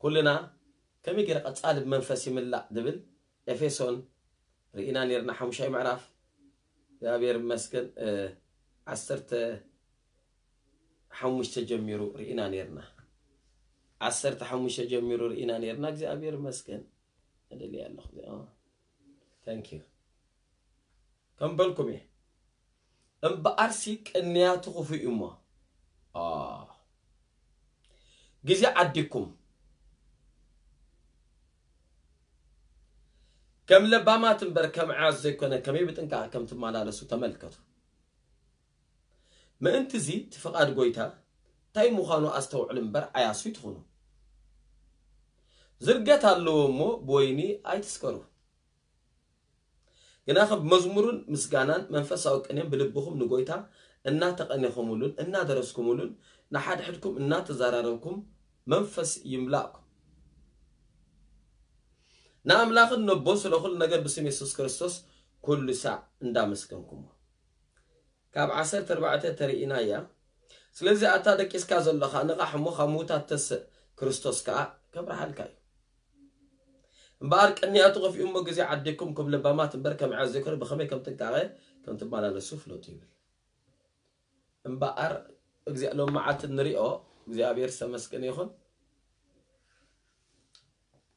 ኩልና ከመይ ገይረ ቀጻሊ ብመንፈስ ይምላእ ዝብል ኤፌሶን ርኢና ነርና፣ ሓሙሻይ ምዕራፍ እግዚኣብሔር ይመስገን። ዓሰርተ ሓሙሽተ ጀሚሩ ርኢና ነርና። ዓሰርተ ሓሙሽተ ጀሚሩ ርኢና ነርና እግዚኣብሔር ይመስገን። እደልያ ኣለኹ። Thank you። ከም በልኩም እየ። እምበኣርሲ ቅንያቱ ክፉእ እዩ እሞ ግዜ ዓዲኩም ከም ለባማት እምበር ከም ዓያስ ዘይኮነ ከመይ ብጥንቃቐ ከም ትመላለሱ ተመልከቱ። ምእንቲ እዚ እቲ ፍቓድ ጎይታ እንታይ ምዃኑ ኣስተውዕሉ እምበር ዓያሱ ይትኹኑ። ዝርገት ኣለዎ እሞ ብወይኒ ኣይትስከሩ። ግናኸ ብመዝሙርን ምስጋናን መንፈሳዊ ቅኔን ብልብኹም ንጎይታ እናተቐኔኹምሉን እናደረስኩምሉን ንሓድሕድኩም እናተዛራረብኩም መንፈስ ይምላእኩም። ንኣምላኽን ነቦ ስለ ኩሉ ነገር ብስም የሱስ ክርስቶስ ኩሉ ሳዕ እንዳመስገንኩሞ። ካብ ዓሰርተ ኣርባዕተ ተርእይና እያ። ስለዚ ኣታ ደቂስካ ዘለኻ ንቓሕ እሞ ካብ ምዉታት ተስእ፣ ክርስቶስ ከኣ ከብርሃልካ እዩ። እምበኣር ቅንያቱ ከፊኡ እሞ ግዜ ዓዲኩም ከም ለባማት እምበር ከም ዓያስ ዘይኮነ ብኸመይ ከም ጥንቃቐ ከም ትመላለሱ ፍለጡ ይብል። እምበኣር እግዚኣብሔር ሎም መዓልቲ ንሪኦ እግዚኣብሔር ዝተመስገነ ይኹን።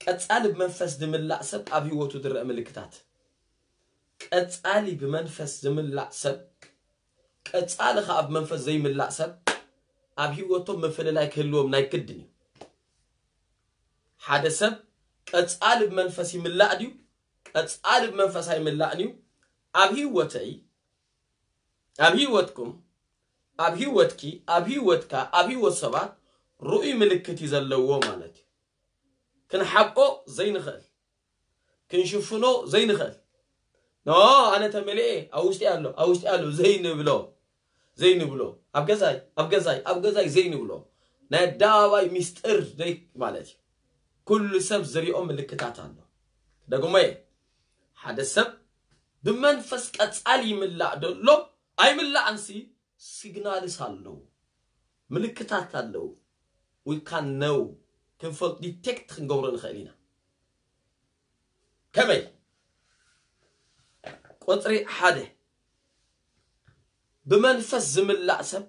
ቀጻሊ ብመንፈስ ዝምላእ ሰብ ኣብ ህይወቱ ዝረአ ምልክታት። ቀጻሊ ብመንፈስ ዝምላእ ሰብ ቀጻሊ ከኣ ብመንፈስ ዘይምላእ ሰብ ኣብ ህይወቶም ምፍልላይ ክህልዎም ናይ ግድን እዩ። ሓደ ሰብ ቀጻሊ ብመንፈስ ይምላእ ድዩ? ቀጻሊ ብመንፈስ ኣይምላእን እዩ። ኣብ ህይወተይ፣ ኣብ ህይወትኩም፣ ኣብ ህይወትኪ፣ ኣብ ህይወትካ፣ ኣብ ህይወት ሰባት ርኡይ ምልክት እዩ ዘለዎ ማለት እዩ። ክንሓብኦ ዘይንኽእል፣ ክንሽፍኖ ዘይንኽእል። ኖ፣ ኣነ ተመሊኤ፣ ኣብ ውሽጢ ኣሎ፣ ኣብ ውሽጢ ኣሎ ዘይንብሎ፣ ዘይንብሎ፣ ኣብ ገዛይ፣ ኣብ ገዛይ፣ ኣብ ገዛይ ዘይንብሎ ናይ ኣደባባይ ሚስጥር ዘይ ማለት እዩ። ኩሉ ሰብ ዝሪኦ ምልክታት ኣሎ። ደግሞየ፣ ሓደ ሰብ ብመንፈስ ቀጻሊ ይምላእ ደሎ ኣይምላእንሲ ሲግናልስ ኣለዉ፣ ምልክታት ኣለዉ። We can know፣ ክንፈልጥ፣ ዲቴክት ክንገብሮ ንኽእል ኢና። ከመይ? ቁጽሪ ሓደ፣ ብመንፈስ ዝምላእ ሰብ፣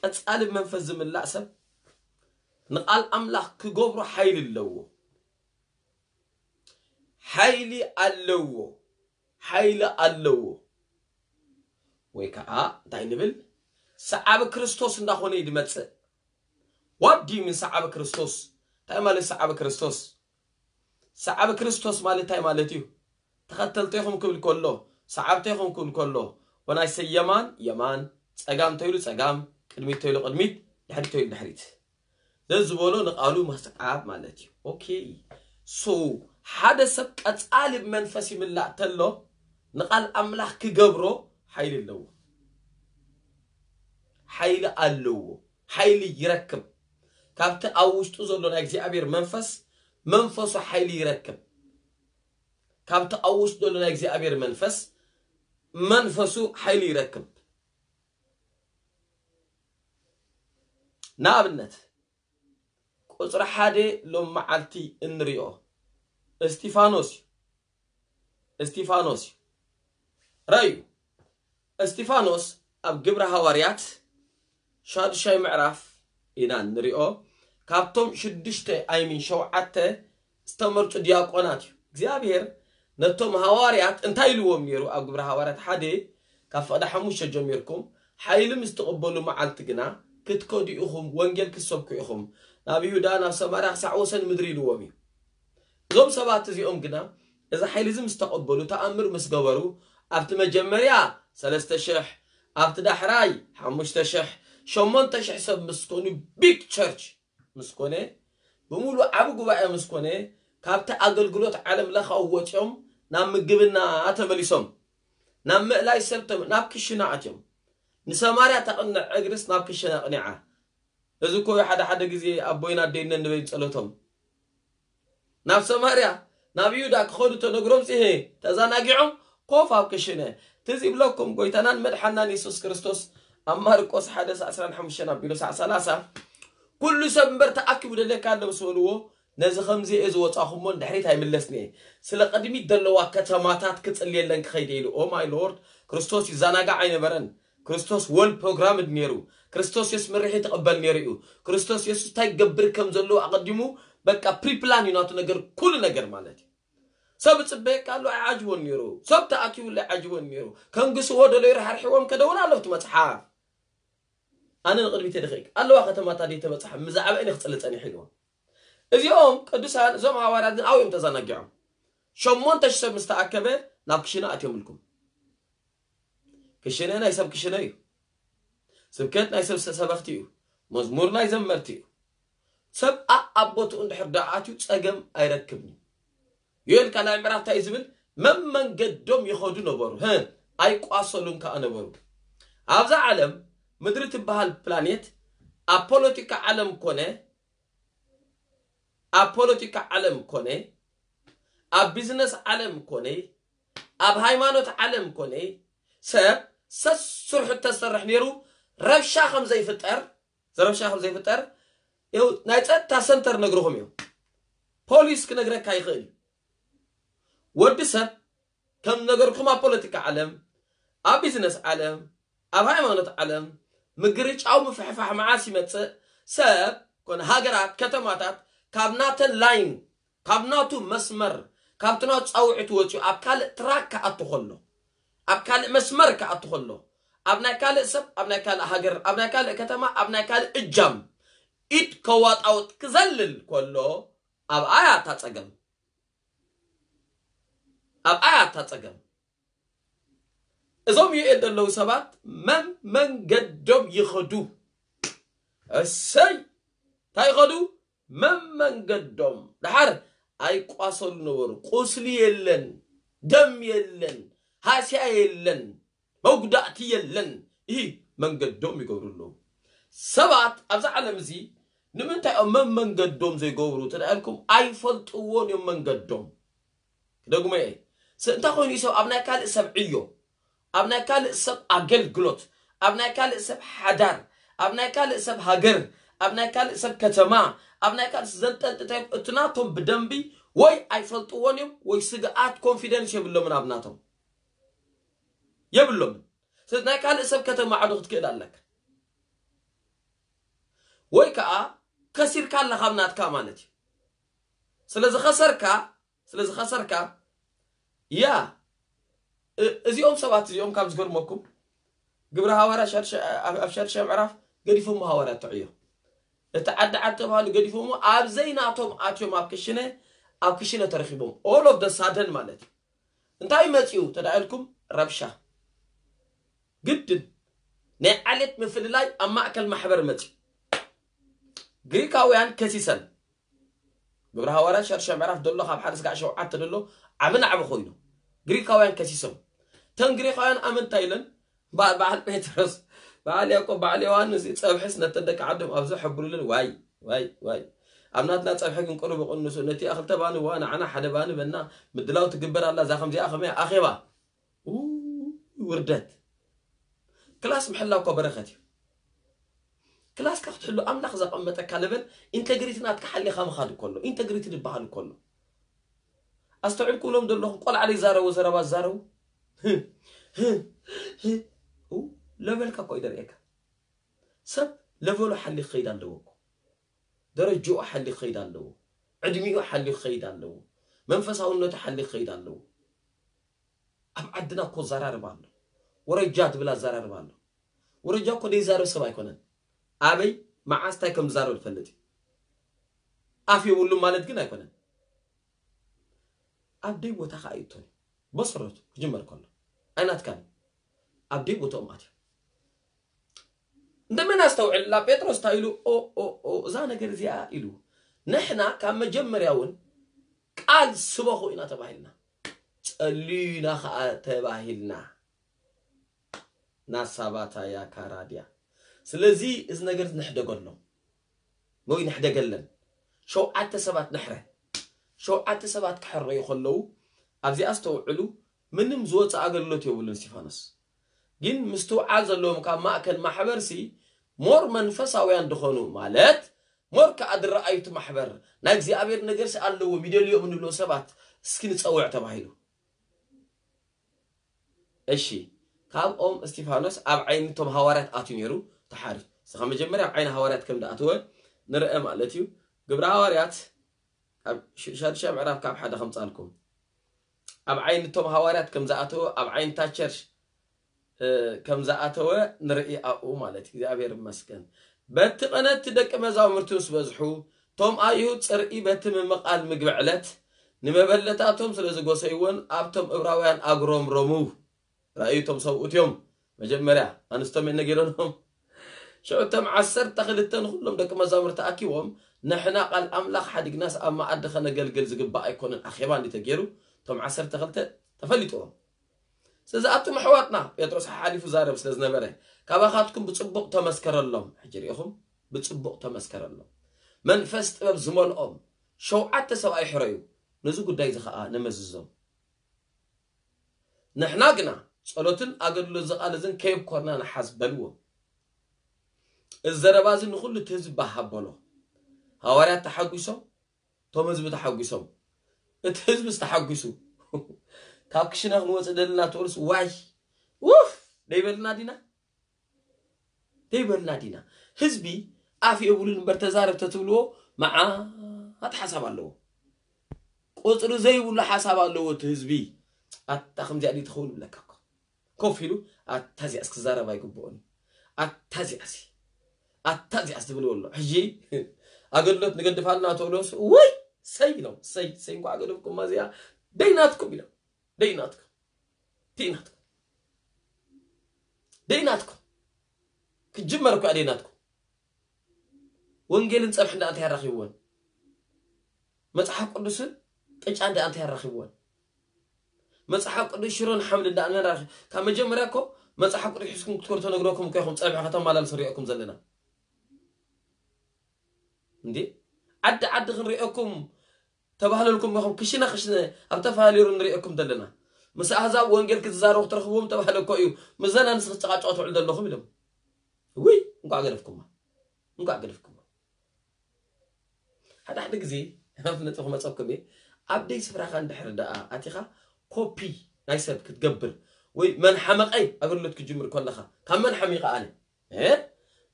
ቀጻሊ ብመንፈስ ዝምላእ ሰብ ንቓል ኣምላኽ ክገብሮ ሓይሊ ኣለዎ። ሓይሊ ኣለዎ፣ ሓይሊ ኣለዎ። ወይ ከዓ እንታይ ንብል? ሰዓቢ ክርስቶስ እንዳኾነ እዩ ዝመጽእ። What do you mean ሰዓቢ ክርስቶስ? እንታይ ማለት ሰዓቢ ክርስቶስ? ሰዓቢ ክርስቶስ ማለት እንታይ ማለት እዩ? ተኸተልተይኹም ክብል ከሎ፣ ሰዓብተይኹም ክብል ከሎ፣ when I say የማን፣ የማን፣ ጸጋም ተይሉ ጸጋም፣ ቅድሚት ተይሉ ቅድሚት፣ ድሕሪት ተይሉ ድሕሪት። ዘዝበሎ ንቓሉ መስዓብ ማለት እዩ። ኦኬ። ሶ ሓደ ሰብ ቀጻሊ ብመንፈስ ይምላእ ተሎ ንቓል ኣምላኽ ክገብሮ ሓይሊ ኣለዎ። ሓይሊ ኣለዎ። ሓይሊ ይረክብ። ካብቲ ኣብ ውሽጡ ዘሎ ናይ እግዚኣብሔር መንፈስ፣ መንፈሱ ሓይሊ ይረክብ። ካብቲ ኣብ ውሽጡ ዘሎ ናይ እግዚኣብሔር መንፈስ፣ መንፈሱ ሓይሊ ይረክብ። ንኣብነት፣ ቁጽሪ ሓደ ሎም መዓልቲ እንሪኦ እስጢፋኖስ እዩ። እስጢፋኖስ እዩ። ረዩ፣ እስጢፋኖስ ኣብ ግብረ ሃዋርያት ሻዱሻይ ምዕራፍ ኢና እንሪኦ። ካብቶም ሽዱሽተ፣ ኣይሚን ሸውዓተ ዝተመርጹ ዲያቆናት እዩ። እግዚኣብሔር ነቶም ሃዋርያት እንታይ ኢልዎም ነይሩ? ኣብ ግብረ ሃዋርያት ሓደ ካብ ፍቕዲ ሓሙሽተ ጀሚርኩም፣ ሓይሊ ምስ ትቕበሉ መዓልቲ ግና ክትከዱ ኢኹም፣ ወንጌል ክትሰብኩ ኢኹም፣ ናብ ይሁዳ፣ ናብ ሰማርያ፣ ክሳዕ ወሰን ምድሪ ኢልዎም እዩ። እዞም ሰባት እዚኦም ግና እዚ ሓይሊ እዚ ምስ ተቐበሉ፣ ተኣምር ምስ ገበሩ፣ ኣብቲ መጀመርያ ሰለስተ ሽሕ፣ ኣብቲ ዳሕራይ ሓሙሽተ ሽሕ፣ ሸሞንተ ሽሕ ሰብ ምስ ኮኑ፣ ቢግ ቸርች ምስ ኮነ፣ ብምሉእ ዓቢ ጉባኤ ምስ ኮነ፣ ካብቲ ኣገልግሎት ዓለም ለኻዊ ወጺኦም ናብ ምግብና ተመሊሶም፣ ናብ ምእላይ ሰብ ተመ-፣ ናብ ክሽነ ኣትዮም። ንሰማርያ ተቕንዕ እግርስ ናብ ክሽነ ኣቕኒዓ። እዚ እኮ እዩ ሓደ ሓደ ግዜ ኣቦይን ኣደይን ነንበይን ጸሎቶም። ናብ ሰማርያ፣ ናብ ይሁዳ ክኸዱ ተነግሮም ጽሄ ተዘናጊዖም ኮፍ ኣብ ክሽነ። ትዝ ይብለኩም ጎይታናን መድሓናን የሱስ ክርስቶስ ኣብ ማርቆስ ሓደ ዕስራን ሓሙሽተን ኣቢሉ ሳዕ ሰላሳ ኩሉ ሰብ እምበር ተኣኪቡ ደለካ ኣሎ ምስ በልዎ፣ ነዚ ከምዚ እየ ዝወጻኹሞ ንድሕሪት ኣይምለስን እየ። ስለ ቅድሚት ዘለዋ ከተማታት ክጽልየለን ክኸይደ ኢሉ። ኦ ማይ ሎርድ፣ ክርስቶስ ይዘናጋዕ ኣይነበረን። ክርስቶስ ወል ፕሮግራምድ ነይሩ። ክርስቶስ የሱስ ምርሒ ትቕበል ነይሩ እዩ። ክርስቶስ የሱስ እንታይ ክገብር ከም ዘለዎ ኣቐዲሙ በቃ ፕሪፕላን እዩ ናቱ ነገር፣ ኩሉ ነገር ማለት እዩ። ሰብ ጽበየካ ኣሎ ኣይዓጅቦን ነይሩ። ሰብ ተኣኪቡሉ ኣይዓጅቦን ነይሩ። ከንግስዎ ደለዩ ርሓርሕዎም ከደውን ኣለብቲ መጽሓፍ። ኣነ ንቕድሚት የድኸይክ ኣለዋ ከተማታት ደይተበጽሓ ምዛዕባ እኔ ክጽሊ ጸኒሕ ኢልዎም። እዚኦም ቅዱሳን እዞም ሃዋርያት ግን ኣብኡ እዮም ተዘናጊዖም። ሸሞንተ ሽሕ ሰብ ምስ ተኣከበ ናብ ክሽነ ኣትዮምልኩም። ክሽነ ናይ ሰብ ክሽነ እዩ። ስብከት ናይ ሰብ ሰበኽቲ እዩ። መዝሙር ናይ ዘመርቲ እዩ። ሰብ ኣብ ቦትኡ እንድሕር ደኣ ኣትዩ ጸገም ኣይረክብን እዩ። ዮኤል ካልኣይ ምዕራፍ እንታይ እዩ ዝብል? መመንገዶም ይኸዱ ነበሩ፣ ህ ኣይቋሰሉን ከኣ ነበሩ። ኣብዛ ዓለም ምድሪ ትበሃል ፕላኔት ኣብ ፖለቲካ ዓለም ኮነ ኣብ ፖለቲካ ዓለም ኮነ ኣብ ቢዝነስ ዓለም ኮነ ኣብ ሃይማኖት ዓለም ኮነ ሰብ ሰስርሑ ተሰርሕ ነይሩ ረብሻ ከም ዘይፍጠር ዘረብሻ ከም ዘይፍጠር ይኸው ናይ ጸጥታ ሰንተር ነግርኹም እዩ። ፖሊስ ክነግረካ ይኽእል እዩ። ወዲ ሰብ ከም ነገርኩም ኣብ ፖለቲካ ዓለም ኣብ ቢዝነስ ዓለም ኣብ ሃይማኖት ዓለም ምግርጫው ምፍሕፋሕ መዓስ ይመጽእ? ሰብ ኮነ ሃገራት ከተማታት ካብ ናተን ላይን ካብ ናቱ መስመር ካብቲ ናቱ ጻውዒት ወጺኡ ኣብ ካልእ ትራክ ክኣቱ ከሎ ኣብ ካልእ መስመር ክኣቱ ከሎ ኣብ ናይ ካልእ ሰብ ኣብ ናይ ካልእ ሃገር ኣብ ናይ ካልእ ከተማ ኣብ ናይ ካልእ እጃም ኢድ ከዋጣውጥ ክዘልል ከሎ ኣብኣ እያ እታ ጸገም። ኣብኣ እያ እታ ጸገም። እዞም ዩኤል ዘለዉ ሰባት መመንገዶም ይኸዱ። እሰይ እንታይ ይኸዱ? መመንገዶም። ደሓር ኣይቋሰሉ ነበሩ። ቁስሊ የለን፣ ደም የለን፣ ሃስያ የለን፣ መጉዳእቲ የለን። ይህ መንገዶም ይገብሩ ኣለዉ። ሰባት ኣብዛ ዓለም እዚ ንምንታይ እዮም መመንገዶም ዘይገብሩ ተዳልኩም? ኣይፈልጥዎን እዮም መንገዶም። ክደግሞ እየ። ስ- እንታይ ኮይኑ እዩ ሰብ ኣብ ናይ ካልእ ሰብ ዕዮ፣ ኣብ ናይ ካልእ ሰብ ኣገልግሎት፣ ኣብ ናይ ካልእ ሰብ ሓዳር፣ ኣብ ናይ ካልእ ሰብ ሃገር፣ ኣብ ናይ ካልእ ሰብ ከተማ፣ ኣብ ናይ ካልእ ሰብ ዘንጠልጥታይ እቲ ናቶም ብደንቢ ወይ ኣይፈልጥዎን እዮም ወይ ስግኣት ኮንፊደንስ የብሎምን ኣብ ናቶም የብሎምን። ስለዚ ናይ ካልእ ሰብ ከተማዕዶ ክትክእል ኣለካ ወይ ከዓ ከሲርካ ኣለኻ ኣብ ናትካ ማለት እዩ። ስለ ዝኸሰርካ ስለ ዝኸሰርካ ያ እ- እዚኦም ሰባት እዚኦም ካብ ዝገርመኩም ግብረ ሃዋርያ ሸድሸ- ኣብ ኣብ ሸድሸ ምዕራፍ ገዲፎም ሃዋርያ ተዕዮ እቲ ዓዲ ዓዲ ተባሃሉ ገዲፎሞ ኣብ ዘይናቶም ኣትዮም ኣብ ክሽነ ኣብ ክሽነ ተረኪቦም all of the sudden ማለት እዩ። እንታይ መፂኡ ተዳኢልኩም ረብሻ ግድን ናይ ዓሌት ምፍልላይ ኣብ ማእከል ማሕበር መፂኡ ግሪካውያን ከሲሰን ግብረ ሃዋርያት ሸርሸ ምዕራፍ ደሎ ካብ ሓደ ስጋዕ ሸውዓተ ደሎ ዓቢ ናዕቢ ኮይኑ ግሪካውያን ከሲሶም ተን ግሪካውያን ኣመንታ ኢለን በዓል ጴጥሮስ በዓል ያዕቆብ በዓል ዮሃንስ ጸብሕስ ነተን ደቂ ዓዶም ኣብዚ ሕብሩልን ዋይ ዋይ ዋይ ኣብ ናትና ጸብሒ ግን ቅሩብ ቅንሱ ነቲ ክልተ ባኒ ዋ ንዓና ሓደ ባኒ በና ምድላው ትግበር ኣላ እዛ ከምዚኣ ከመይ ኣኼባ ውርደት ክላስ ምሕላው እኮ በረኸት እዩ ክላስካ ክትሕሉ ኣምላኽ ዘቐመጠካ ለበል ኢንተግሪቲ ናትካ ሓሊኻ ምኻድ እኮ ኣሎ ኢንተግሪቲ ዝበሃል እኮ ኣሎ ኣስተውዕል ክብሎም ዘለኹ ቆልዓ ዘይዛረቦ ዘረባ ዝዛረቡ ለበልካ እኮ እዩ ደርእየካ ሰብ ለበሉ ሓሊ ክኸይድ ኣለዎ እኮ ደረጅኡ ሓሊ ክኸይድ ኣለዎ ዕድሚኡ ሓሊ ክኸይድ ኣለዎ መንፈሳውነቱ ሓሊ ክኸይድ ኣለዎ ኣብ ዓድና እኮ ዘራርብ ኣሎ ወረጃ ትብል ኣዘራርብ ኣሎ ወረጃ እኮ ዘይዛረብ ሰብ ኣይኮነን ኣበይ መዓስ እንታይ ከም ዝዛረብ ዝፈልጥ እዩ ኣፍ የብሉም ማለት ግን ኣይኮነን ኣብ ደይ ቦታ ከዓ ይእቶን እዩ በሰረቱ ክጅመር ከሎ ኣይናትካን ኣብ ደይ ቦታኦም ኣትዮም እንደመን ኣስተውዕል ላ ጴጥሮስ እንታይ ኢሉ እዛ ነገር እዚኣ ኢሉ ንሕና ካብ መጀመርያ እውን ቃል ስበኹ ኢና ተባሂልና ጸልዩ ኢና ከዓ ተባሂልና ናሳባታ ያካራድያ ስለዚ እዚ ነገር ንሕደገሎም ወይ ንሕደገለን ሸውዓተ ሰባት ንሕረ ሸውዓተ ሰባት ክሕረዩ ከለዉ ኣብዚኣ ኣስተውዕሉ ምንም ዝወፀ ኣገልግሎት የብሉን እስቲፋኖስ ግን ምስትውዓል ዘለዎም ካብ ማእከል ማሕበርሲ ሞር መንፈሳውያን ድኾኑ ማለት ሞር ከኣ ዝረኣዩ እቲ ማሕበር ናይ እግዚኣብሔር ነገርሲ ኣለዎም ይደልዮም እንብሎ ሰባት እስኪ ንጸውዕ ተባሂሉ። እሺ፣ ካብኦም እስጢፋኖስ ኣብ ዓይኒ እቶም ሃዋርያት ኣትዩ ነይሩ፣ ተሓሪ። እስኻ መጀመርያ ኣብ ዓይኒ ሃዋርያት ከም ዝኣተወ ንርአ ማለት እዩ። ግብረ ሃዋርያት ኣብ ሽ- ሻድሻይ ምዕራፍ ካብ ሓደ ከምጻልኩም። ኣብ ዓይኒ እቶም ሃዋርያት ከም ዝኣተወ፣ ኣብ ዓይኒ እታ ቸርች ከም ዝኣተወ ንርኢ ኣብኡ ማለት እዩ። እግዚኣብሔር ይመስገን። በቲ ቀነቲ ደቂ መዛሙርቲ ምስ በዝሑ፣ እቶም ኣይሁድ ጽርኢ በቲ ምምቓል ምግቢ ዕለት ንመበለታቶም ስለ ዝጎሰይዎን ኣብቶም እብራውያን ኣጉረምረሙ። ራእዩ እቶም ሰብኡት እዮም መጀመርያ ኣንስቶም እየ ነጊረኖም። ሽዑ እቶም ዓሰርተ ክልተ ንኹሎም ደቂ መዛሙርቲ ኣኪቦም፣ ንሕና ቃል ኣምላኽ ሓዲግናስ ኣብ መኣዲ ከነገልግል ዝግባእ ኣይኮነን፣ ኣኼባ እንዲ ተገይሩ እቶም ዓሰርተ ክልተ ተፈሊጥዎም። ስለዚ ኣቱም ኣሕዋትና፣ ጴጥሮስ ሓሓሊፉ ዛረብ ስለ ዝነበረ፣ ካባኻትኩም ብጽቡቕ ተመስከረሎም። ሕጂ ርኢኹም፣ ብጽቡቕ ተመስከረሎም። መንፈስ ጥበብ ዝመልኦም ሸውዓተ ሰብኣይ ሕረዩ፣ ነዚ ጉዳይ እዚ ኸኣ ነመዝዞም። ንሕና ግና ጸሎትን ኣገልግሎት ዝቓለዝን ከየብኮርና ንሓዝ በልዎም። እዚ ዘረባ እዚ ንኹሉ እቲ ህዝቢ ባህ ኣበሎ። ሃዋርያት ተሓጒሶም፣ እቶም ህዝቢ ተሓጒሶም፣ እቲ ህዝቢ ዝተሓጒሱ። ካብ ክሽነ ክንወፅእ ደለና ትብሉስ ዋይ ውፍ ደይበልና ዲና? ደይበልና ዲና? ህዝቢ ኣፍ የብሉን እምበር ተዛረብ ተትብልዎ መዓት ሓሳብ ኣለዎ። ቁፅሪ ዘይብሉ ሓሳብ ኣለዎ እቲ ህዝቢ። ኣታ ከምዚኣ ድዩ ትኸውን ይብለካ እኮ። ኮፍ ኢሉ ኣታ እዚኣስ ክዛረብ ኣይግብኦን እዩ። ኣታ እዚኣሲ ኣታ እዚኣስ ትብልዎ ኣሎ። ሕጂ ኣገልግሎት ንገድፋልና ተብሎስ ወይ ሰይ ኢሎም ሰይ ሰይ እንኳ ኣገደፍኩም እዚኣ ደይናትኩም ኢሎም ደይናትኩም ደይናትኩም ደይናትኩም ክጅመር እኳ ደይናትኩም ወንጌልን ጸብሒ እንዳ እንታይ ያራኺብወን መጽሓፍ ቅዱስን ቅጫ እንዳ እንታይ ያራኺብወን መጽሓፍ ቅዱስ ሽሮን ሓምድ እንዳ እንታይ ያራኺ ካብ መጀመርያ እኮ መጽሓፍ ቅዱስ ሒዝኩም ክትከዱ ተነግረኩም እኮ ኢኹም ጸብሒ ከተማላልሱ ሪኦኩም ዘለና እንዴ ዓዲ ዓዲ ክንሪኦኩም ተባህለልኩም ኢኹም ክሽነ ክሽነ ኣብ ተፋሊሩ ንሪኦኩም ዘለና ምስ ኣህዛብ ወንጌል ክትዛረቡ ክትረኽብዎም ተባህለ እኮ እዩ ምዘና ንስ ክትጨቃጨቁ ትውዕል ዘለኹም ኢሎም ውይ እንኳዕ ገደፍኩማ እንኳዕ ገደፍኩማ ሓደ ሓደ ግዜ ናብ ነጥቢ ክመፀኩም እየ ኣብ ደይ ስፍራኻ እንድሕር ደኣ ኣቲኻ ኮፒ ናይ ሰብ ክትገብር ወይ መን ሓመቐይ ኣገልግሎት ክጅምር ከለኻ ካብ መን ሓሚቐ ኣነ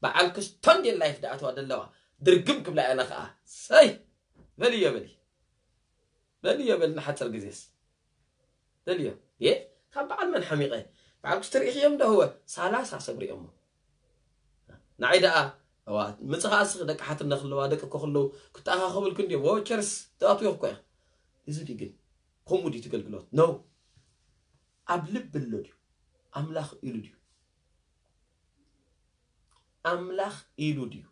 በዓል ክስቶን ዴ ላይፍ ደኣተዋ ደለዋ ድርግም ክብላ እያ ከኣ ሰይ በልዮ በሊ በልዮ በል ንሓፀር ግዜስ በልዮ የ ካብ በዓል መን ሓሚቐ በዓል ክስቶ ርኢኽዮም ዶ ህወ ሳላሳ ሰብ ሪኦሞ ንዓይ ደኣ እዋ ምፅኻ እስኺ ደቂ ሓትነ ክለዋ ደቂ እኮ ክለው ክተኣኻኸብልኩ እንዲዮም ወቸርስ ተኣትዮ እኮ እያ እዚ ድዩ ግን ከምኡ ድዩ ትገልግሎት ነው ኣብ ልብ ኣሎ ድዩ ኣምላኽ ኢሉ ድዩ ኣምላኽ ኢሉ ድዩ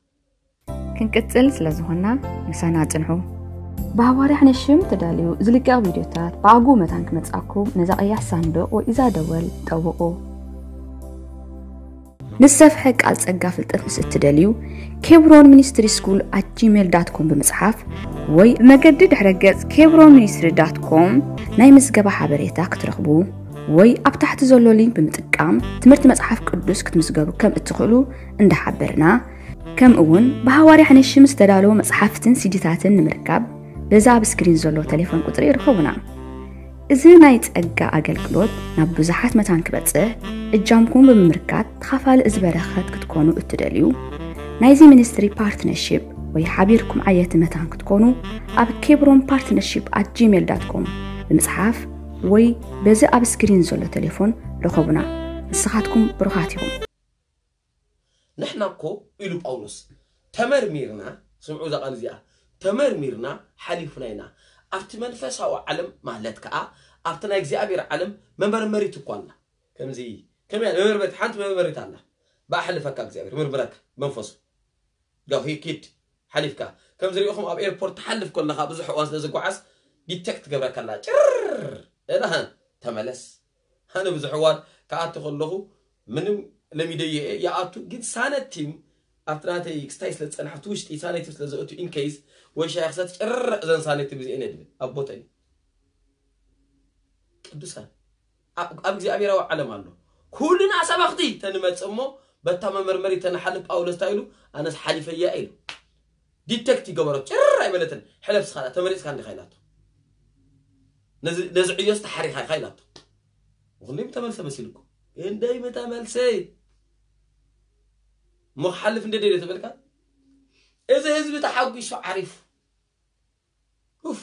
ክንቅጽል ስለ ዝኾንና ምሳና ጽንሑ። ብሃዋርያ ሕነሽም ተዳልዩ ዝልቀቕ ቪድዮታት ብኣግኡ መታን ክመጽኣኩም ነዛ ቀያሕ ሳንዱቕ ወይ እዛ ደወል ጠውቑ። ንሰፍሐ ቃል ጸጋ ፍልጠት ምስ እትደልዩ ኬብሮን ሚኒስትሪ ስኩል ኣት ጂሜል ዳት ኮም ብምጽሓፍ ወይ ብመገዲ ድሕረ ገጽ ኬብሮን ሚኒስትሪ ዳት ኮም ናይ ምዝገባ ሓበሬታ ክትረኽቡ ወይ ኣብ ታሕቲ ዘሎ ሊንክ ብምጥቃም ትምህርቲ መጽሓፍ ቅዱስ ክትምዝገቡ ከም እትኽእሉ እንዳሓበርና፣ ከምኡ እውን ብሃዋርያ ሕነሽም ዝተዳለዉ መጽሓፍትን ሲዲታትን ንምርካብ በዚ ኣብ ስክሪን ዘሎ ቴሌፎን ቁጽሪ ይርከቡና። እዚ ናይ ጸጋ ኣገልግሎት ናብ ብዙሓት መታን ክበጽሕ እጃምኩም ብምምርካት ተኻፋሊ እዚ በረኸት ክትኮኑ እትደልዩ፣ ናይዚ ሚኒስትሪ ፓርትነርሺፕ ወይ ሓቢርኩም ዓየቲ መታን ክትኮኑ ኣብ ኬብሮን ፓርትነርሺፕ ኣት ጂሜል ዳት ኮም ብምጽሓፍ ወይ በዚ ኣብ ስክሪን ዘሎ ቴሌፎን ርኸቡና። ንስኻትኩም ብሩኻት ኢኹም። ንሕና እኮ ኢሉ ጳውሎስ ተመርሚርና፣ ስምዑ እዛ ቃል እዚኣ፣ ተመርሚርና ሓሊፍና ኢና። ኣብቲ መንፈሳዊ ዓለም ማለት ከኣ ኣብቲ ናይ እግዚኣብሔር ዓለም መመርመሪት እኳ ኣላ። ከምዚ ከመይ መመርመሪት ሓንቲ መመርመሪት ኣላ። ብኣሕልፈካ እግዚኣብሔር ምርምረካ መንፈሱ ዳኺ ኪድ ሓሊፍካ ከም ዝሪእኹም ኣብ ኤርፖርት ትሓልፍ ከለኻ ብዙሕ እዋን ስለ ዝጓዓዝ ዲቴክት ትገብረካ ኣላ ጭር እላ ተመለስ ኣነ ብዙሕ እዋን ክኣቱ ከለኹ ምንም ለሚደዮ እየ ይኣቱ ግን ሳነቲም ኣብቲ ናተይ ክስታይ ስለ ዝፀንሓ ኣብቲ ውሽጢ ሳነቲም ስለ ዘእቱ ኢንኬይስ ወይ ሻይ ክሰት ጭር እዘን ሳነቲም እዚአን እየ ድብል ኣብ ቦተን ቅዱሳን ኣብ እግዚኣብሔራዊ ዓለም ኣሎ ኩልና ሰባኽቲ ተንመጽእ እሞ በታ መመርመሪ ተንሓልፍ ጳውሎስ እንታይ ኢሉ ኣነስ ሓሊፈያ ኢሉ ዲቴክት ይገበሮ። ጭር ኣይበለትን። ሕለፍ ስኻ ተመሪጽካ እንዲኻ ኢላቶ። ነዚ ነዚ ዕዮስ ተሓሪኻ ኢኻ ኢላቶ። ክንደይ ምተመልሰ መሲልኩም? ክንደይ ምተመልሰ? እሞ ክሓልፍ እንደ ደልዮ ተበልካ፣ እዚ ህዝቢ ተሓጒሱ ዓሪፉ። ኡፍ።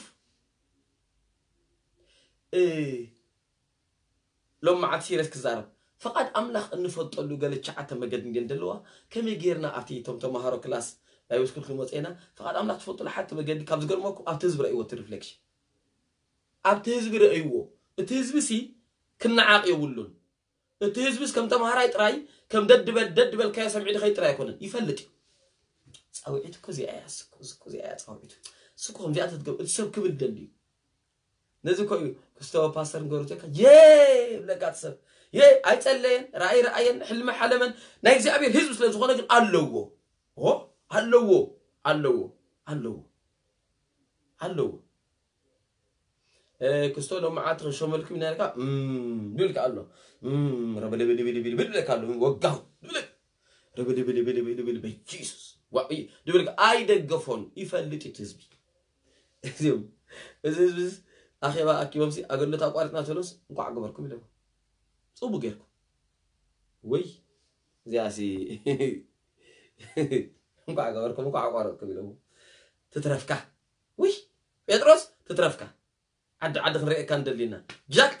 እ፣ ሎም መዓት ሲረስ ክዛረብ። ፍቓድ ኣምላኽ እንፈልጠሉ ገለ ትሽዓተ መገዲ እንድየን ዘለዋ። ከመይ ጌርና ኣብቲ እቶም ተምሃሮ ክላስ ባይብል ስኩል ክንመጽ ኢና። ፍቓድ ኣምላኽ ትፈልጡሉ ሓንቲ መገዲ ካብ ዝገርመኩም ኣብቲ ህዝቢ ረእይዎ እቲ ሪፍሌክሽን። ኣብቲ ህዝቢ ረእይዎ። እቲ ህዝቢ ሲ ክነዓቕ የብሉን። እቲ ህዝብስ ከም ተምሃራይ ጥራይ ከም ደድበል ደድበልካዮ ሰምዒ ድኸይ ጥራይ ኣይኮነን። ይፈልጥ እዩ። ጻውዒት እኮ እዚኣ እያ፣ እሱ እኮ፣ እሱ እኮ እዚኣ እያ ጻውዒቱ። እሱ እኮ ከምዚኣ ተትገብር እቲ ሰብ ክብል ደሊ እዩ። ነዚ እኮ እዩ ክስቶ ፓስተር ንገሩ ተካ የ ብለካ እቲ ሰብ የ ኣይጸለየን፣ ራእይ ረኣየን፣ ሕልሚ ሓለመን፣ ናይ እግዚኣብሔር ህዝቢ ስለ ዝኾነ ግን ኣለዎ። ኦ ኣለዎ፣ ኣለዎ፣ ኣለዎ፣ ኣለዎ። እ፣ ክስቶ ሎም መዓልቲ ክንሸመልኩም ኢና ኢልካ፣ እም፣ ድብል ከ ኣሎ። እም፣ ረበለበለበለበለ ኢልካ ኣሎ። ወጋው ድብል። ረበለበለበለበለ በጂሱስ። ዋ፣ ኢ፣ ድብል ከ ኣይደገፎን፣ ይፈልጥ እዩ እቲ ህዝቢ። እዚኦም፣ እዚ ህዝቢ እዚ ኣኼባ ኣኪቦም ሲ ኣገልግሎት ኣቋሪጽና ተሎስ እንኳዕ ገበርኩም ኢሎም። ጽቡቅ ጌርኩም። ወይ፣ እዚኣ ሲ እንኳዕ ገበርኩም፣ እንኳዕ ኣቋረጥኩም ኢሎም። ትትረፍካ። ውይ፣ ጴጥሮስ ትትረፍካ። ዓዲ ዓዲ ክንርእየካ እንደሊና። ጃክ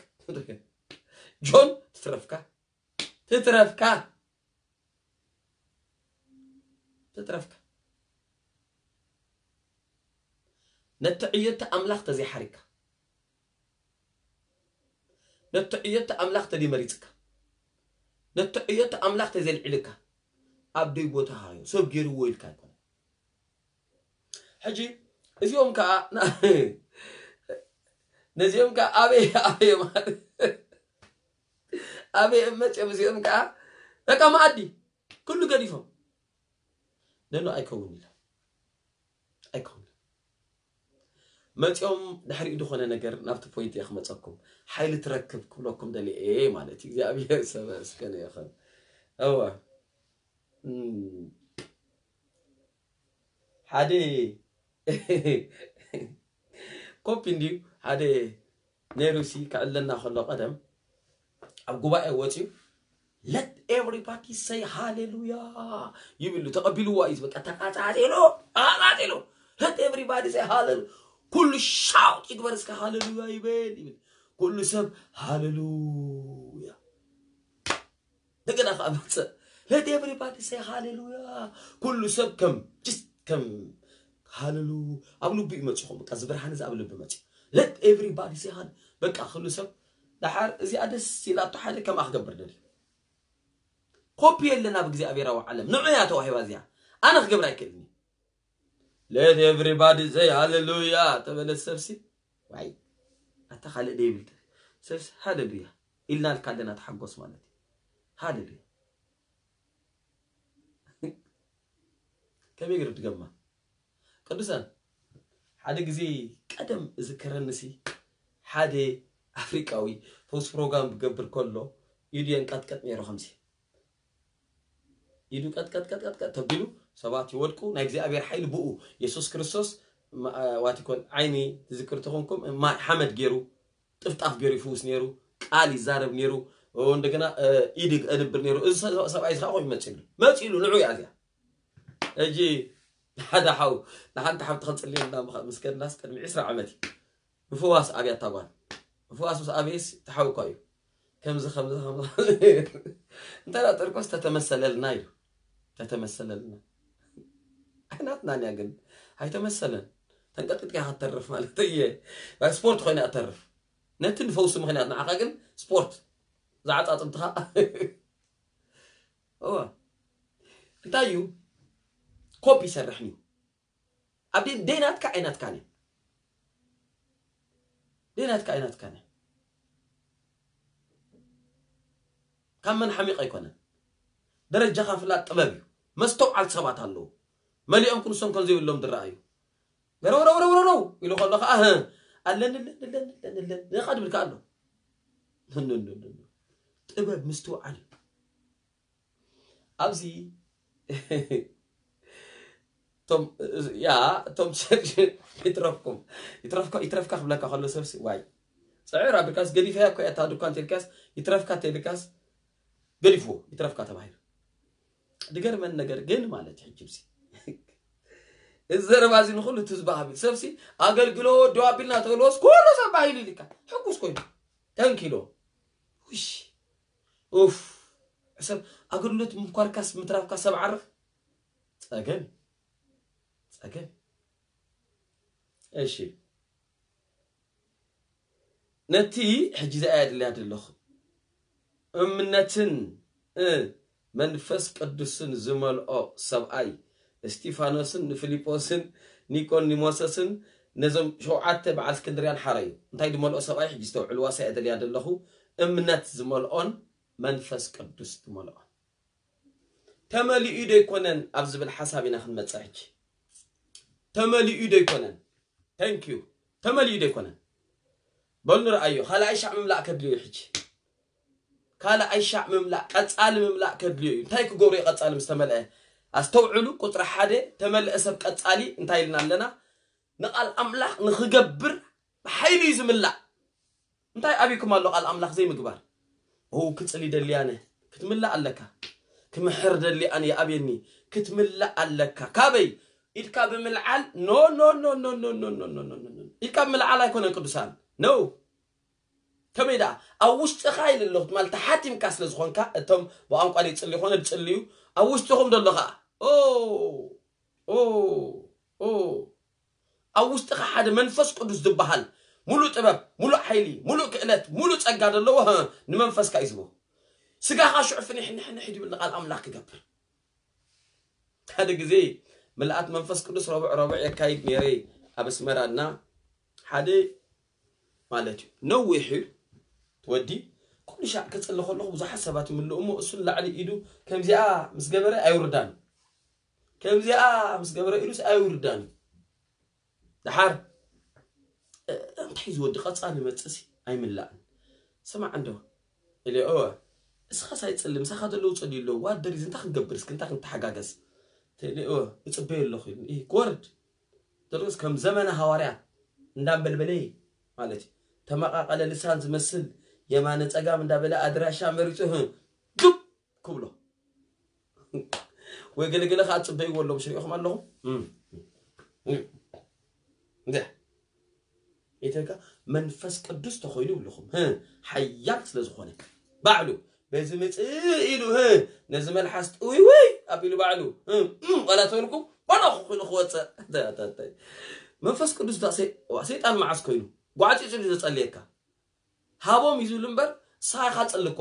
ጆን ትትረፍካ። ትትረፍካ። ትትረፍካ። ነቲ ዕዮቲ ኣምላኽ ተዘይሓሪካ። ነቲ ዕዮቲ ኣምላኽ ተደይመሪጽካ። ነቲ ዕዮቲ ኣምላኽ ተዘይልዒልካ። ኣብ ደይ ቦታ ሃዮ። ሰብ ገይርዎ ኢልካ ኣይኮነ። ሕጂ እዚኦም ከዓ ና-፣ ነዚኦም ከዓ ኣበይ፣ ኣበይ ማለት፣ ኣበይ እመፅኦም እዚኦም ከዓ በቃ መኣዲ ኩሉ ገዲፎም። ነኖ ኣይከውን ኢለ። ኣይከውን። መፂኦም ድሕሪኡ ዝኾነ ነገር ናብቲ ፖይንት እየ ክመፀኩም። ሓይሊ ትረክብ ክብለኩም ደልየ እየ ማለት እዩ። እግዚኣብሔር ዝተመስገነ ይኹን። እወ። እም። ሓደ ኮፒ እንድዩ፣ ሓደ ነይሩ ሲ ክዕለና ከሎ ቀደም ኣብ ጉባኤ ወፂኡ፣ let everybody say ሃሌሉያ ይብል፣ ተቐቢልዋ እዩ። በቃ ተቃጻጺሉ፣ ተቃጻጺሉ። Let everybody say ሃሌሉ-፣ ኩሉ ሻውት ይግበር እስከ ሃሌሉያ ይበል ይብል። ኩሉ ሰብ ሃሌሉያ። እንደገና ከዓ መፀ። Let everybody say ሃሌሉያ። ኩሉ ሰብ ከም፣ just ከም ሃሌሉ-፣ ኣብ ልቡ እዩ መፂኹም። በቃ እዚ ብርሃን እዚ ኣብ ልቢ መፂ። Let everybody say ሃሌ-፣ በቃ ኩሉ ሰብ ደሓር እዚኣ ደስ ኢላቶ ሓደ ከምኣ ክገብር ደልዩ። ኮፒ የለን ኣብ እግዚኣብሔራዊ ዓለም። ንዑ እያ ተዋሂባ እዚኣ። ኣነ ክገብር ኣይክእልን እዩ። Let everybody say ሃሌሉያ ተበለ ሰብሲ። ዋይ፣ ኣታ ካልእ ደይብል ሰብሲ ሃሌሉያ ኢልና ልካ ኣለና ተሓጎስ ማለት እዩ። ሃሌሉያ። ከመይ ገይሩ ድገማ? ቅዱሳን፣ ሓደ ግዜ ቀደም እዝከረኒ ሲ፣ ሓደ ኣፍሪቃዊ ፈውስ ፕሮግራም ክገብር ከሎ ኢዱ የንቀጥቀጥ ነይሩ ከምዚ። ኢዱ ቀጥቀጥቀጥቀጥቀጥ ተቢሉ ሰባት ይወድቁ። ናይ እግዚኣብሔር ሓይሊ ብኡ የሱስ ክርስቶስ ማ-፣ ዋት ይኮን ዓይኒ ትዝክር ተኾንኩም ማይ ሓመድ ገይሩ ጥፍጣፍ ገይሩ ይፍውስ ነይሩ። ቃል ይዛረብ ነይሩ። ኦ፣ እንደገና፣ እ፣ ኢድ የንብር ነይሩ። እዚ ሰ-፣ ሰብኣይ እዚ ከዓ ኮይኑ መፂሉ። መፂሉ ንዑ እያ እዚኣ። ሕጂ ሓደ ሓው ንሓንቲ ሓብቲ ከንፅልየልና ምኸ-፣ ምስ ከድናስ ቅድሚ ዕስራ ዓመት እዩ። ምፍዋስ ኣብያ እታ ጓል። ምፍዋስ ምስ ኣብየስ ተሓውኳ እዩ። ከምዚ፣ ከምዚ፣ ከምዚ። እንተ ደኣ ጥርቆስ ተተመሰለልና ኢሉ። ተተመሰለልና። ኣይናትናን እያ ግን። ኣይተመሰለን። ተንቀጥቅጥካ ክትተርፍ ማለት እየ። ናይ ስፖርት ኮይና እተርፍ። ነቲ ንፈውሲ ምኽንያት ንዓኻ ግን ስፖርት። ዝዓጻጽምትኻ። እወ። እንታይ እዩ? ኮፒ ይሰርሕን እዩ። ኣብ ደይ-፣ ደይናትካ ኣይናትካን እዩ። ደይናትካ ኣይናትካን እዩ። ካብ መን ሓሚቕ ኣይኮነን። ደረጃኻ ፍላጥ ጥበብ እዩ። መስተውዓል ሰባት ኣለዉ። መሊኦም ክንሶም ከም ዘይብሎም ዝረኣዩ። ገረው፣ ረው፣ ረው፣ ረው፣ ረው ኢሉ ከሎ ኸዓ፣ "ህ፣ ኣለኒ፣ ኣለኒ፣ ኣለኒ፣ ኣለኒ፣ ኣለኒ" ኢኻ ድብል ከኣ ኣሎ። ኖ፣ ኖ፣ ኖ፣ ኖ። ጥበብ ምስትውዓል እዩ። ኣብዚ እቶም ያ እቶም ይትረፍኩም ይትረፍካ ይትረፍካ ክብለካ ከሎ ሰብሲ ዋይ ጽዕር ኣብልካስ ገዲፈያ እኮ እያ እታ ድኳን ተልካስ ይትረፍካ ተልካስ ገዲፍዎ ይትረፍካ ተባሂሉ። ድገርመን ነገር ግን ማለት ሕጂ ብሲ እዚ ዘረባ እዚ ንኹሉ ትዝባ ሃቢል ሰብሲ ኣገልግሎ ደው ኣቢልና ተብልዎስ ኩሉ ሰብ ባሂሉ ኢልካ ሕጉስ ኮይኑ ተንኪሎ ውሽ ኡፍ ሰብ ኣገልግሎት ምኳርካስ ምትራፍካ ሰብ ዓርፍ ጸገም ጸገም እሺ ነቲ ሕጂ ዝኣያ ድልያ ዘለኹ እምነትን መንፈስ ቅዱስን ዝመልኦ ሰብኣይ እስጢፋኖስን ንፊልጶስን ኒቆዲሞሰስን ነዞም ሸውዓተ በዓል እስክንድርያን ሓረዩ እንታይ ዝመልኦ ሰብኣይ ሕጂ ዝተውዕልዋ ሰያ ደልያ ዘለኹ እምነት ዝመልኦን መንፈስ ቅዱስ ዝመልኦን ተመሊኡ ዶ ይኮነን ኣብ ዝብል ሓሳብ ኢና ክንመፅእ ሕጂ ተመሊኡ ዶ ይኮነን thank you ተመሊኡ ዶ ይኮነን በሉ ንርኣዮ ካልኣይ ሻዕ ምምላእ ከድልዮ እዩ ሕጂ ካልኣይ ሻዕ ምምላእ ቀፃሊ ምምላእ ከድልዮ እዩ እንታይ ክገብሩ እዩ ቀፃሊ ምስ ተመልአ ኣስተውዕሉ ቁፅሪ ሓደ ተመልአ ሰብ ቀፃሊ እንታይ ኢልና ኣለና ንቃል ኣምላኽ ንክገብር ብሓይሉ እዩ ዝምላእ እንታይ ኣብይኩም ኣሎ ቃል ኣምላኽ ዘይምግባር ው ክፅሊ ደልያነ ክትምላእ ኣለካ ክምሕር ደሊ ኣነ ይኣብየኒ ክትምላእ ኣለካ ካበይ ኢድካ ብምልዓል ኖ ኖ ኖ ኖ ኖ ኖ ኖ ኖ ኖ ኖ ኢድካ ብምልዓል ኣይኮነን ቅዱሳን ነው ከመይ ደኣ ኣብ ውሽጥኻ ኢለ ኣለኹ ትማል ተሓቲምካ ስለ ዝኾንካ እቶም ብቋንቋ ይፅሊ ይኾነ ዝፅልዩ ኣብ ውሽጥኹም ዘሎ ኸዓ ኦ ኦ ኦ ኣብ ውሽጥኻ ሓደ መንፈስ ቅዱስ ዝበሃል ሙሉእ ጥበብ፣ ሙሉእ ሓይሊ፣ ሙሉእ ክእለት፣ ሙሉእ ጸጋ ዘለዎ ህ፣ ንመንፈስካ እዩ ዝህቦ። ስጋኻ ሽዑ ፍንሕንሕንሕ ድብል ንቓል ኣምላኽ ክገብር። ሓደ ግዜ ምልኣት መንፈስ ቅዱስ ረቡዕ ረቡዕ የካይድ ነይረ ኣብ ኣስመራ እና ሓደ ማለት እዩ ነዊሕ እዩ እቲ ወዲ ኩሉ ሻዕ ክጽሊ ከለኹ ብዙሓት ሰባት ይምልኡ እሞ እሱ ንላዕሊ ኢዱ ከምዚኣ ምስ ገበረ ኣይውርዳን ከምዚኣ ምስ ገበረ ኢሉስ ኣይውርዳን እዩ። ደሓር እንታይ ዝወዲ ቀፃሊ መፅእሲ ኣይምላእን። ስማዕ እንዶ ኢለ እወ እስኻስ ኣይፅሊ ምሳኻ ዘለዉ ፀልዩ ኣለዉ ዋደር እዚ እንታይ ክንገብር እስኪ እንታይ ክንተሓጋገዝ ኢለ እወ እፅበየ ኣለኹ ኢሉ ክወርድ ደርስ ከም ዘመነ ሃዋርያት እንዳንበልበለ ማለት እዩ ተመቃቀለ ልሳን ዝመስል የማነ ፀጋም እንዳበለ ኣድራሻ መሪፁ ግብ ክብሎ ወይ ገለገለ ከዓ ፅበይዎ ኣለዉ ምስ ሪኢኹም ኣለኹም እንደ ኢተካ መንፈስ ቅዱስ ተኮይኑ ይብልኹም ሓያል ስለ ዝኾነ ባዕሉ በዚ ምፅእ ኢሉ ነዚ መልሓስ ጥውይ ወይ ኣቢሉ ባዕሉ ዋላ ተበልኩም ባዕሉ ክኮይኑ ክወፅእ መንፈስ ቅዱስ ሰይጣን መዓስ ኮይኑ ጓዕፂ ፅሉ ዘፀልየካ ሃቦም እዩ ዝብል እምበር ንስኻ ኢኻ ፅልኮ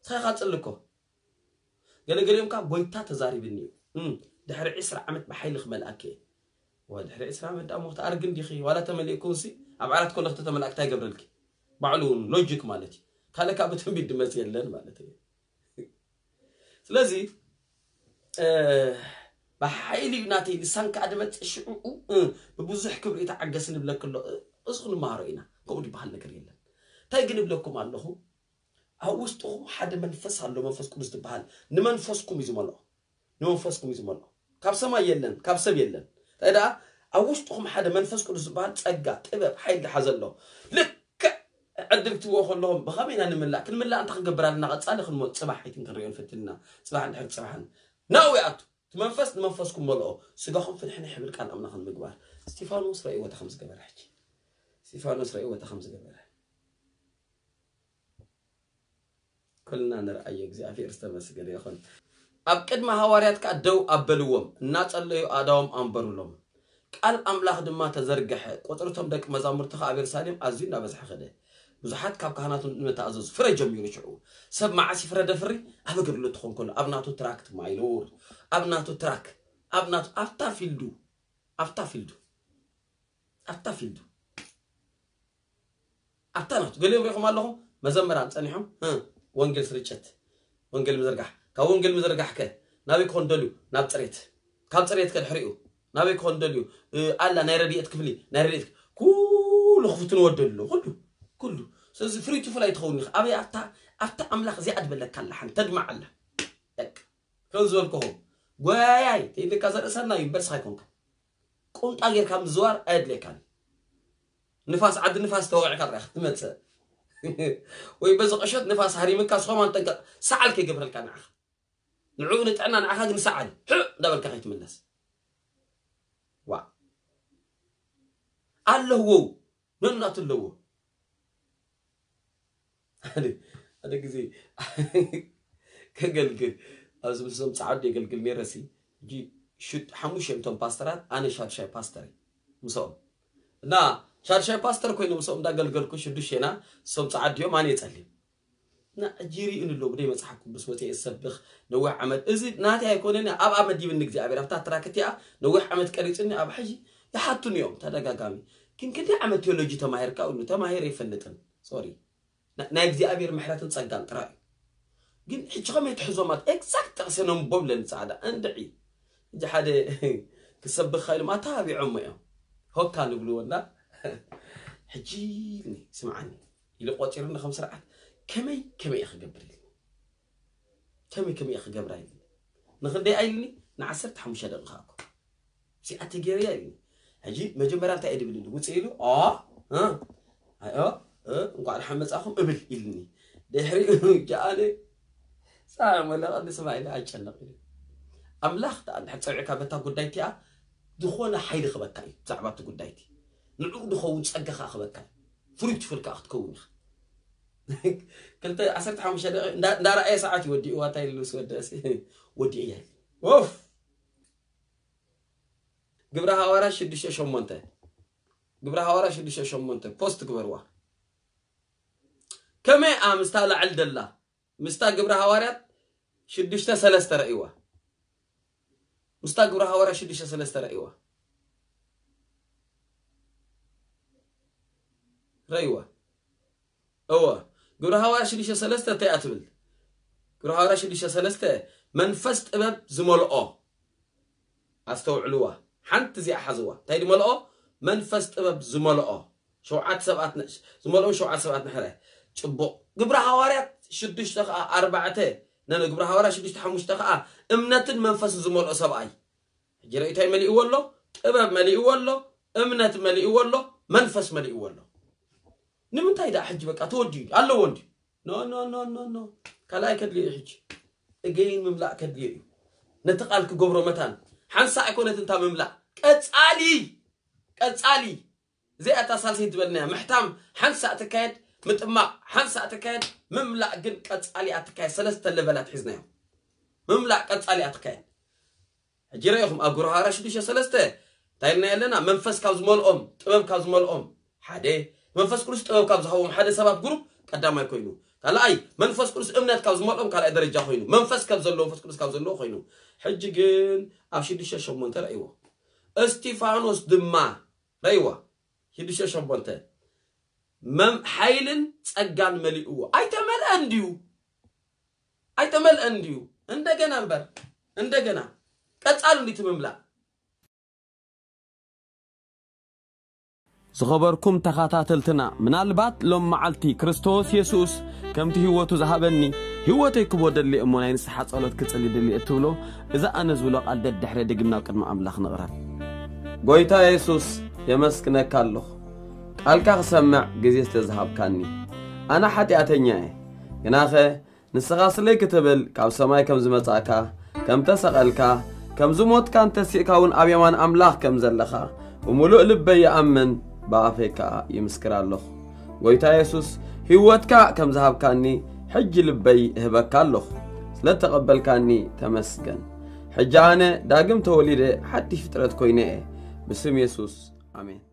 ንስኻ ኢኻ ፅልኮ ገለገሊኦም ካብ ጎይታ ተዛሪብኒ እዩ ድሕሪ ዕስራ ዓመት ብሓይሊ ክመልኣኪ እየ ድሕሪ ዕስራ ዓመት ዳ ሞክቲ ኣርግ እንዲኺ ዋላ ተመሊእኩንሲ ኣብ ዓራት ኮለኽቲ ተመላእክታ ይገብረልኪ ባዕሉ እውን ሎጂክ ማለት እዩ ካልእ ካብ ትንቢት ድመፅ የለን ማለት እዩ ስለዚ ብሓይሊ እዩ ናተይ ልሳን ከዓ ድመፅእ ሽዑኡ ብብዙሕ ክብሪ ተዓገስ ንብለክ ኣሎ እዚ ክንመሃሮ ኢና ከምኡ ዝበሃል ነገር የለን እንታይ ግን እብለኩም ኣለኹ ኣብ ውሽጥኹም ሓደ መንፈስ ኣሎ መንፈስ ቅዱስ ዝበሃል ንመንፈስኩም እዩ ዝመልኦ ንመንፈስኩም እዩ ዝመልኦ ካብ ሰማይ የለን ካብ ሰብ የለን እንታይ ደኣ ኣብ ውሽጥኹም ሓደ መንፈስ ቅዱስ ዝበሃል ፀጋ ጥበብ ሓይሊ ዝሓዘ ኣሎ ልክዕ ዕድል ክትብዎ ከለኹም ብኸመይ ኢና ንምላእ ክንምላእ እንታይ ክንገብር ኣለና ቀፃሊ ክንመ ፅባሕ ኣይትን ክንሪኦ ንፈትንና ፅባሕ እንድሕር ፅባሕን ናው ይኣቱ እቲ መንፈስ ንመንፈስኩም መልኦ ስጋኹም ፍንሕንሕ ይብል ቃል ኣምላኽ ንምግባር እስጢፋኖስ ረእይዎ እታ ከም ዝገበረ ሕጂ እስጢፋኖስ ረእይዎ እታ ከም ዝገበረ ኩልና ንርኣዮ እግዚኣብሔር ዝተመስገነ ይኹን ኣብ ቅድሚ ሃዋርያት ከዓ ደው ኣበልዎም እናጸለዩ ኣእዳዎም ኣንበሩሎም ቃል ኣምላኽ ድማ ተዘርግሐ ቁጽሪ እቶም ደቂ መዛሙርቲ ከዓ ኣብ የሩሳሌም ኣዝዩ እናበዝሐ ኸደ ብዙሓት ካብ ካህናት ንመተኣዘዙ ፍረ ጀሚሩ ሽዑ ሰብ መዓስ ይፍረደ ፍሪ ኣብ ኣገልግሎት ትኾን ከሎ ኣብ ናቱ ትራክት ማይኖር ኣብ ናቱ ትራክ ኣብ ናቱ ኣብታ ፊልዱ ኣብታ ፊልዱ ኣብታ ፊልዱ ኣብታ ናቱ ገሊኦም ሪኢኹም ኣለኹም መዘመራን ፀኒሖም ወንጌል ስርጭት ወንጌል ምዝርጋሕ ካብ ወንጌል ምዝርጋሕ ከ ናበይ ክኾን ደልዩ ናብ ፅሬት ካብ ፅሬት ከድሕሪኡ ናበይ ክኾን ደልዩ ኣላ ናይ ረድኤት ክፍሊ ናይ ረድኤት ኩሉ ክፍትንዎ ደሎ ኩሉ ኩሉ ስለዚ ፍሪቱ ፍላይ ትኸውን ኢኻ ኣበይ ኣብታ ኣብታ ኣምላኽ እዚኣ ድበለካ ኣላ ሓንቲ ተድማዕ ኣላ ከም ዝበልክኹም ጎያይ ተይልካ ዘርእሰና ዩኒቨርስ ኣይኮንካ። ቁምጣ ጌርካ ምዝዋር ኣየድልየካን። ንፋስ፣ ዓዲ ንፋስ ተወቂዕካ ጥራይ ክትመጽእ። ወይ በዚ ቁሸት ንፋስ ሃሪምካ ስኸማን ጠንቀቕ። ሰዓል ከይገብረልካ ንዓኻ። ንዕኡ ንጥዕና ንዓኻ ግን ሰዓል። ሕእ እንዳበልካ ከይትምለስ። ዋ። ኣለዎ። ነናቱ ኣለዎ። ሓደ፣ ሓደ ግዜ ከገልግል፣ ኣብዚ ምስዞም ጻዓዱ የገልግል ነይረ ሲ፣ ሕጂ ሹድ-፣ ሓሙሽተ እዮም እቶም ፓስተራት፣ ኣነ ሻድሻይ ፓስተር እየ ምስኦም። እና ሻድሻይ ፓስተር ኮይኑ ምስኦም እንዳገልገልኩ ሽዱሽቴና፣ እሶም ጻዓዱ እዮም፣ ኣነ እየ ጸሊም። እና ሕጂ ይርእዩኒ ኣለዉ፣ ብደይ መጽሓፍ ቅዱስ ወፅየ ዝሰብኽ ነዊሕ ዓመት። እዚ ናተይ ኣይኮነን፣ ኣብ ኣመዲብኒ እግዚኣብሔር፣ ኣብታ ትራክ እቲኣ ነዊሕ ዓመት ቀሪጽኒ፣ ኣብ ሕጂ ይሓቱኒ እዮም ተደጋጋሚ። ግን ክንደይ ዓመት ቴዎሎጂ ተማሂርካ? እሉ ተማሂረ ኣይፈልጥን። ሶሪ። ና-፣ ናይ እግዚኣብሔር ምሕረትን ጸጋን ጥራይ እዩ። ግን ሕጂ ከመይ ትሕዞም ኣት ኤግዛክት ጥቕሲ ነንቦም ለኒ ጻዕዳ እንድዒ። ሕጂ ሓደ ክሰብኽ ኢሎም ኣተባቢዖሞ እዮም። ሆካ ንብልዎ እና ሕጂ ኢልኒ፣ ስምዓኒ ኢሉ ቆጺሩኒ ከም ስርዓት፣ ከመይ ከመይ እየ ክገብር ኢልኒ። ከመይ ከመይ እየ ክገብራ ኢልኒ። ንኽንደይ ኢልኒ? ንዓሰርተ ሓሙሽተ ደቂቕ እኮ። እዚኣ ተገይርያ ኢልኒ። ሕጂ መጀመርያ እንታይ እየ ድብል ኢሉ? ውፅእ ኢሉ፣ ኦ፣ እ፣ ኣይ፣ ኦ፣ እ፣ እንኳዕ ደሓን መጻእኹም እብል ኢልኒ። ድሕሪኡ ጃኣነ፣ ሳዕ መለቐ ንስማ ኢለ ኣይጨነቕ ኢለ። ኣምላኽ ደኣ እንድሕር ጸዊዕካ በታ ጉዳይ እቲኣ፣ ዝኾነ ሓይሊ ክበካ እዩ ብዛዕባ እቲ ጉዳይ እቲ። ንዕኡ ድኸውን ጸጋ ከኣ ክበካ እዩ። ፍሩይ ትፍል ከኣ ክትከውን ኢኻ። ክልተ፣ ዓሰርተ ሓሙሽተ ደቂቕ እንዳ-፣ እንዳረኣየ ሰዓት እዩ ወዲእዋ፣ እንታይ ኢሉ ምስ ወደእሲ፣ ወዲእያ ኢሉ። ኦፍ! ግብረ ሃዋርያት ሽዱሽተ ሸሞንተ። ግብረ ሃዋርያት ሽዱሽተ ሸሞንተ። ፖስት ግበርዋ። ከመይ እያ ምስታ ላዕል ደላ? ምስታ ግብረ ሃዋርያት ሽዱሽተ ሰለስተ ረእይዋ። ምስታ ግብረ ሃዋርያት ሽዱሽተ ሰለስተ ረእይዋ። ረእይዋ። እወ። ግብረ ሃዋርያት ሽዱሽተ ሰለስተ እንታይ እያ ትብል? ግብረ ሃዋርያት ሽዱሽተ ሰለስተ መንፈስ ጥበብ ዝመልኦ። ኣስተውዕልዋ። ሓንቲ እዚኣ ሓዝዋ። እንታይ ድመልኦ? መንፈስ ጥበብ ዝመልኦ። ሸውዓተ ሰባት ነ-፣ ዝመልኦም ሸውዓተ ሰባት ንሕረ። ጽቡቕ። ግብረ ሃዋርያት ሽዱሽተ ኸኣ ኣርባዕተ፣ ነ-፣ ነ-፣ ግብረ ሃዋርያት ሽዱሽተ ሓሙሽተ ኸኣ እምነትን መንፈስን ዝመልኦ ሰብኣይ። ሕጂ ርእይታይ መሊእዎ ኣሎ? ጥበብ መሊእዎ ኣሎ፣ እምነት መሊእዎ ኣሎ፣ መንፈስ መሊእዎ ኣሎ። ንምንታይ ደኣ ሕጂ በቃ ተወዲኡ ኣለዎ እንዲ? ኖ፣ ኖ፣ ኖ፣ ኖ፣ ኖ። ካልኣይ ከድልዮ እዩ ሕጂ። እገይን ምምላእ ከድልዮ እዩ። ነቲ ቃል ክገብሮ መታን። ሓንሳእ ኣይኮነትን እታ ምምላእ። ቀጻሊ፣ ቀጻሊ። እዚኣ እታ ሳልሰይቲ ዝበልናያ። ምሕታም ሓንሳእ ትካየድ፣ ምጥማቕ ሓንሳእ ትካየድ፣ ምምላእ ግን ቀጻሊ እያ ትካየድ። ሰለስተ ለቨላት ሒዝናዮ። ምምላእ ቀጻሊ እያ ትካየድ። ሕጂ ረኢኹም ኣብ ግብረ ሃዋርያት ሽዱሽተ ሰለስተ እንታይ ኢልና ኣለና? መንፈስ ካብ ዝመልኦም፣ ጥበብ ካብ ዝመልኦም ሓደ፣ መንፈስ ቅዱስ ጥበብ ካብ ዝሃቦም ሓደ ሰባት ግሩፕ ቀዳማይ ኮይኑ፣ ካልኣይ መንፈስ ቅዱስ እምነት ካብ ዝመልኦም ካልኣይ ደረጃ ኮይኑ፣ መንፈስ ካብ ዘለዎ፣ መንፈስ ቅዱስ ካብ ዘለዎ ኮይኑ። ሕጂ ግን ኣብ ሽዱሽተ ሸሞንተ ረእይዎ። እስጢፋኖስ ድማ ረእይዎ። ሽዱሽተ ሸሞንተ። መም-፣ ሓይልን ጸጋን መሊእዎ። ኣይተመልአን ድዩ? ኣይተመልአን ድዩ? እንደገና እምበር፣ እንደገና። ቀጻሉ እንዲ ትምምላእ። ዝኸበርኩም ተኸታተልትና፣ ምናልባት ሎም መዓልቲ ክርስቶስ የሱስ ከምቲ ህይወቱ ዝሃበኒ፣ ህይወተይ ክቦ ደሊ እሞ ናይ ንስሓ ጸሎት ክጽሊ ድሊ እትብሎ፣ እዚ ኣነ ዝብሎ ቃል ደድሕረ ድግም ናብ ቅድሚ ኣምላኽ ንቕረብ። ጎይታ የሱስ፣ የመስግነካ ኣለኹ። ቃልካ ክሰምዕ ግዜ ስለ ዝሃብካኒ። ኣነ ሓጢኣተኛ እየ። ግናኸ ንስኻ ስለይ ክትብል ካብ ሰማይ ከም ዝመጻእካ፣ ከም ተሰቐልካ፣ ከም ዝሞትካን ተሲእካ እውን ኣብ የማን ኣምላኽ ከም ዘለኻ ብምሉእ ልበይ ይኣምን፣ ብኣፈይ ከኣ ይምስክር ኣለኹ። ጎይታ የሱስ፣ ህይወትካ ከም ዝሃብካኒ ሕጂ ልበይ እህበካ ኣለኹ። ስለ እተቐበልካኒ ተመስገን። ሕጂ ኣነ ዳግም ተወሊደ ሓድሽ ፍጥረት ኮይነ እየ። ብስም የሱስ፣ ኣሜን።